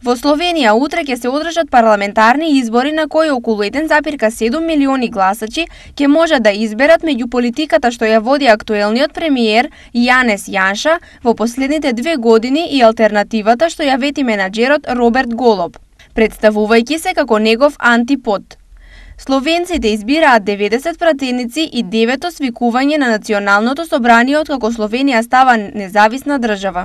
Во Словенија утре ќе се одржат парламентарни избори на кои околу 1,7 милиони гласачи ќе можат да изберат меѓу политиката што ја води актуелниот премиер Јанес Јанша во последните 2 години и алтернативата што ја вети менаџерот Роберт Голоб, представувајќи се како негов антипод. Словенците избираат 90 пратеници и 9 свикување на Националното собрание откако Словенија става независна држава.